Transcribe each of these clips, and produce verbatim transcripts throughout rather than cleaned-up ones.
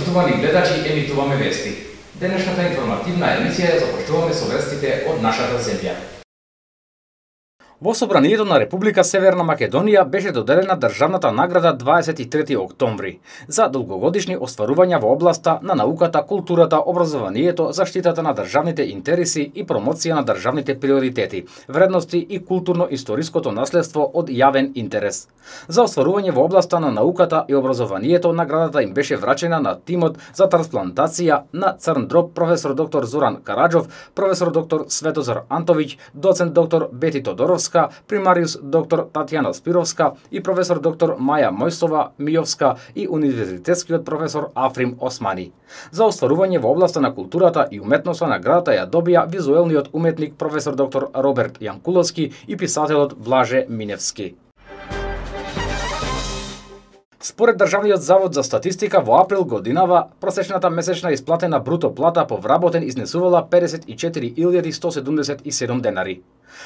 почитувани гледачи, емитуваме вести. Денешната информативна емисија ја започнуваме со вестите од нашата земја. Во Собранието на Република Северна Македонија беше доделена државната награда дваесет и трети октомври за долгогодишни остварувања во областа на науката, културата, образованието, заштитата на државните интереси и промоција на државните приоритети, вредности и културно-историското наследство од јавен интерес. За остварување во областа на науката и образованието наградата им беше врачена на тимот за трансплантација на Црн дроб професор доктор Зоран Караджов, професор доктор Светозар Антовиќ, доцент доктор Бети Тодоровска, примариус доктор Татјана Спировска и професор доктор Маја Мојсова Мијовска и универзитетскиот професор Африм Османи. За остварување во областа на културата и уметноста наградата ја добија визуелниот уметник професор доктор Роберт Јанкуловски и писателот Блаже Миневски. Според Државниот завод за статистика во април годинава просечната месечна исплатена бруто плата по вработен изнесувала педесет и четири илјади сто седумдесет и седум денари.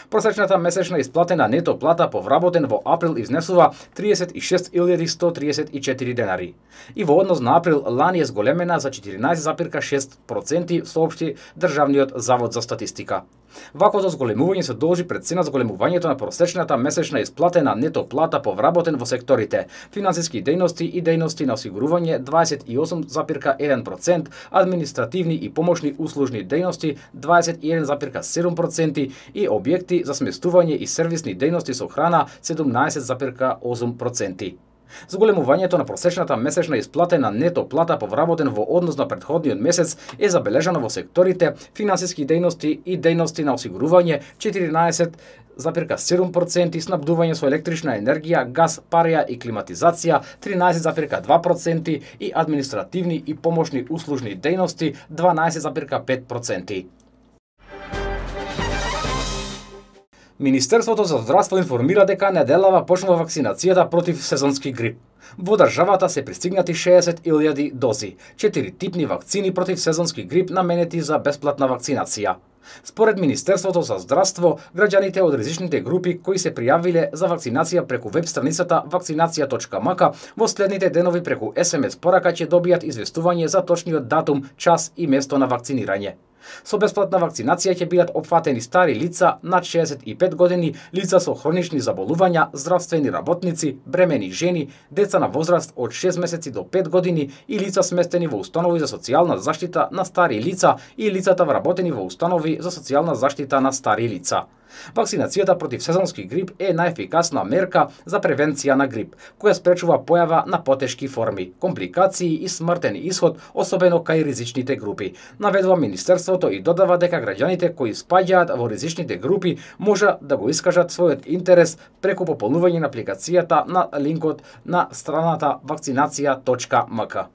Просечната месечна исплатена нето плата по вработен во април изнесува триесет и шест илјади сто триесет и четири денари. И во однос на април лани е зголемена за четиринаесет запирка шест проценти, соопшти Државниот завод за статистика. Ваквото зголемување се должи пред се на зголемувањето на просечната месечна исплатена нето плата по вработен во секторите финансиски дејности и дејности на осигурување дваесет и осум запирка еден процент, административни и помошни услужни дејности дваесет и еден запирка седум проценти и објекти за сместување и сервисни дејности со храна седумнаесет запирка осум проценти. Зголемувањето на просечната месечна исплатена нето плата по вработен во однос на претходниот месец е забележано во секторите финансиски дејности и дејности на осигурување четиринаесет запирка седум проценти, снабдување со електрична енергија, газ, пареја и климатизација тринаесет запирка два проценти и административни и помошни услужни дејности дванаесет запирка пет проценти. Министерството за здравство информира дека неделава почнува вакцинацијата против сезонски грип. Во државата се пристигнати шеесет илјади дози, четири типни вакцини против сезонски грип наменети за бесплатна вакцинација. Според Министерството за здравство, граѓаните од ризичните групи кои се пријавиле за вакцинација преку веб страницата вакцинација точка м к во следните денови преку ес ем ес порака ќе добијат известување за точниот датум, час и место на вакцинирање. Со бесплатна вакцинација ќе бидат опфатени стари лица над шеесет и пет години, лица со хронични заболувања, здравствени работници, бремени жени, деца на возраст од шест месеци до пет години и лица сместени во установи за социјална заштита на стари лица и лицата вработени во установи за социјална заштита на стари лица. Вакцинацијата против сезонски грип е најефикасна мерка за превенција на грип, која спречува појава на потешки форми, компликации и смртен исход, особено кај ризичните групи. Наведува Министерството и додава дека граѓаните кои спаѓаат во ризичните групи може да го искажат својот интерес преку пополнување на апликацијата на линкот на страната вакцинација точка м к.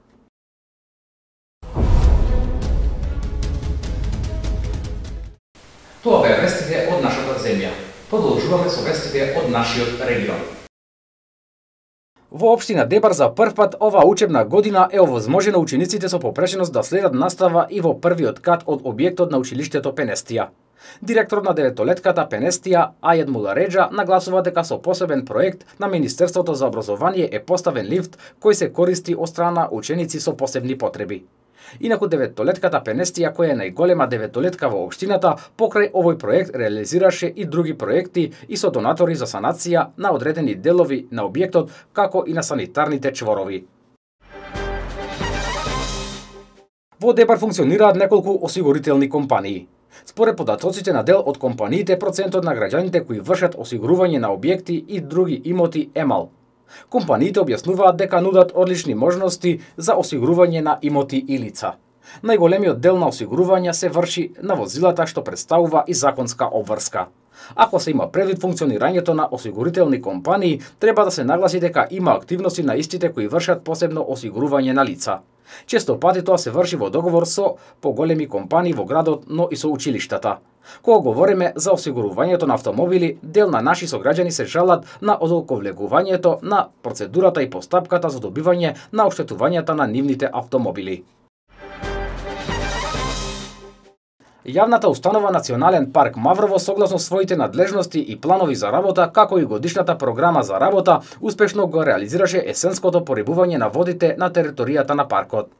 Тоа беа вестите од нашата земја. Продолжуваме со вестите од нашиот регион. Во општина Дебар за прв пат оваа учебна година е овозможено учениците со попрешеност да следат настава и во првиот кат од објектот на училиштето Пенестија. Директорот на деветолетката Пенестија, Ајед Мулареджа, нагласува дека со посебен проект на Министерството за образование е поставен лифт кој се користи од страна ученици со посебни потреби. Инаку деветолетката Пенестија, која е најголема деветолетка во општината, покрај овој проект реализираше и други проекти и со донатори за санација на одредени делови на објектот, како и на санитарните чворови. Во Дебар функционираат неколку осигурителни компании. Според податоците на дел од компаниите, процентот на граѓаните кои вршат осигурување на објекти и други имоти е мал. Компаниите објаснуваат дека нудат одлични можности за осигурување на имоти и лица. Најголемиот дел на осигурување се врши на возилата, што представува и законска обврска. Ако се има предвид функционирањето на осигурителни компании, треба да се нагласи дека има активности на истите кои вршат посебно осигурување на лица. Често пати тоа се врши во договор со поголеми компании во градот, но и со училиштата. Кога говориме за осигурувањето на автомобили, дел на наши сограѓани се жалат на одолковлегувањето на процедурата и постапката за добивање на оштетувањата на нивните автомобили. Јавната установа Национален парк Маврово, согласно своите надлежности и планови за работа, како и годишната програма за работа, успешно го реализираше есенското порибување на водите на територијата на паркот.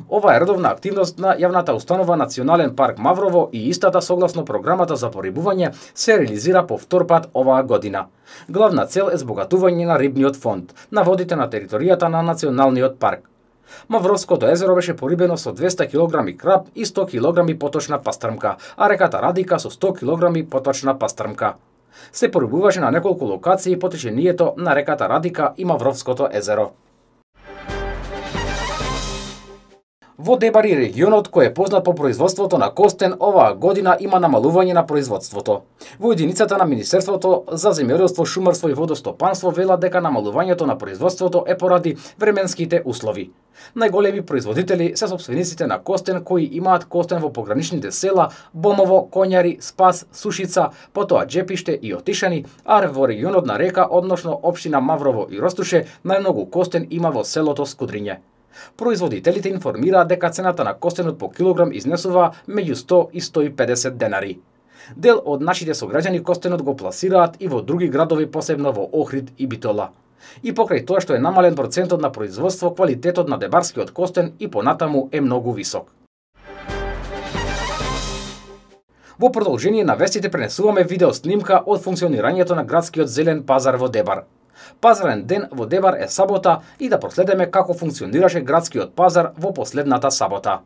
Ова е редовна активност на јавната установа Национален парк Маврово и истата согласно програмата за порибување се реализира по втор пат оваа година. Главна цел е збогатување на рибниот фонд на водите на територијата на Националниот парк. Мавровското езеро беше порибено со двесте килограми краб и сто килограми поточна пастрмка, а реката Радика со сто килограми поточна пастрмка. Се порибуваше на неколку локации по течението на реката Радика и Мавровското езеро. Во Дебар и регионот, кој е познат по производството на костен, оваа година има намалување на производството. Во единицата на Министерството за земјоделство, шумарство и водостопанство велат дека намалувањето на производството е поради временските услови. Најголеми производители се сопствениците на костен кои имаат костен во пограничните села Бомово, Коњари, Спас, Сушица, потоа Джепиште и Отишани, а во регионот на Река, односно општина Маврово и Ростуше, најмногу костен има во селото Скудриње. Производителите информираат дека цената на костенот по килограм изнесува меѓу сто и сто и педесет денари. Дел од нашите сограѓани костенот го пласираат и во други градови, посебно во Охрид и Битола. И покрај тоа што е намален процентот на производство, квалитетот на дебарскиот костен и понатаму е многу висок. Во продолжение на вестите пренесуваме видео снимка од функционирањето на градскиот зелен пазар во Дебар. Пазарен ден во Дебар е сабота и да проследиме како функционираше градскиот пазар во последната сабота.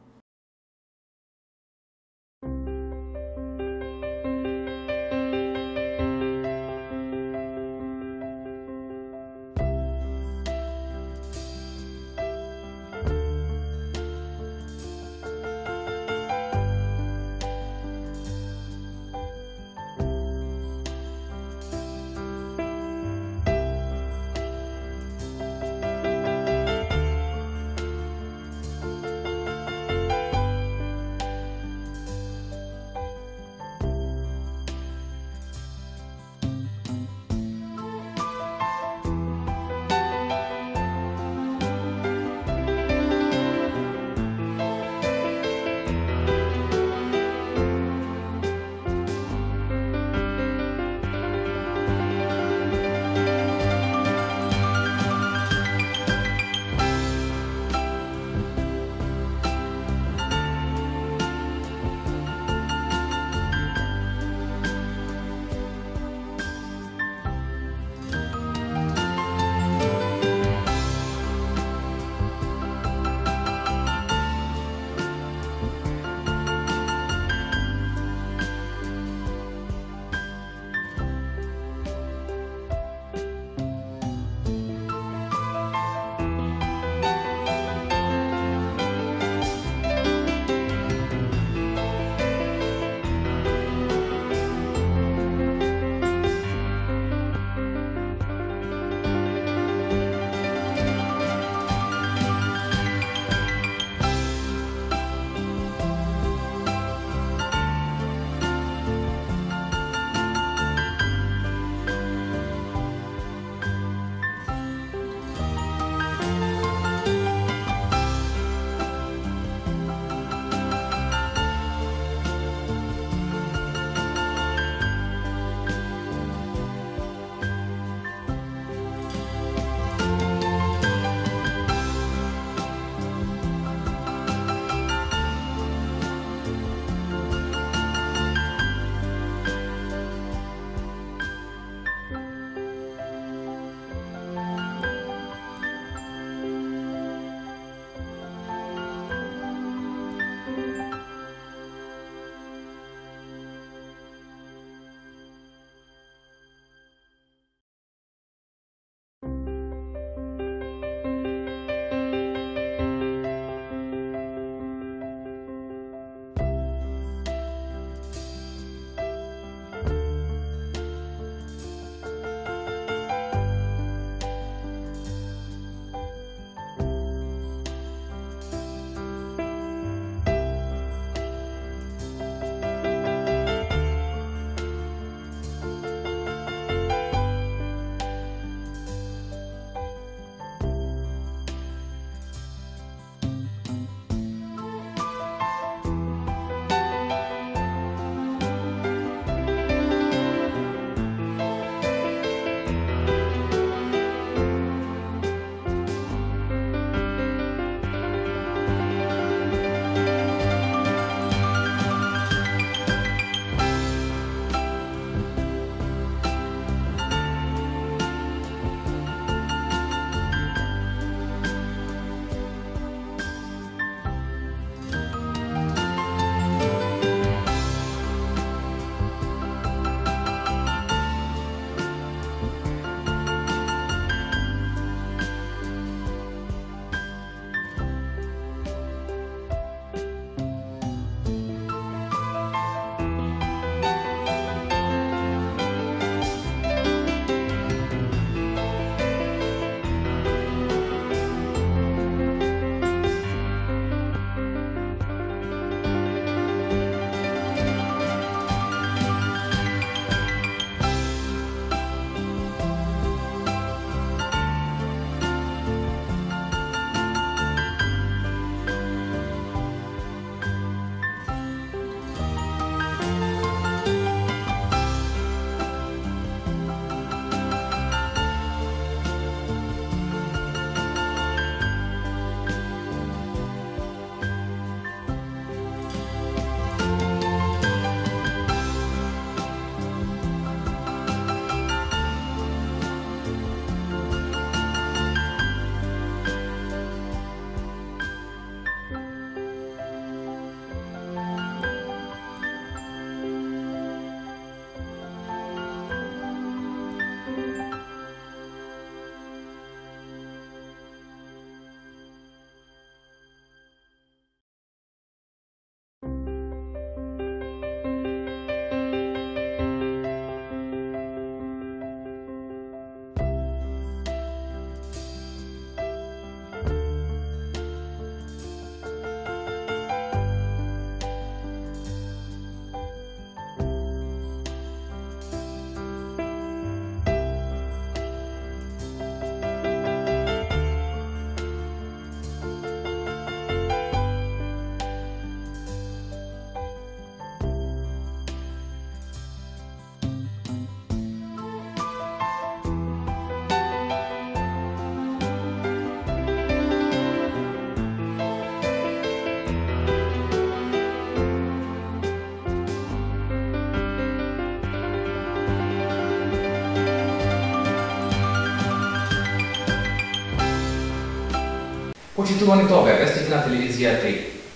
Почитувани, тоа бе вестите на телевизија три.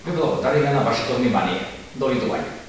Ви благодариме на вашето внимание. Довидување.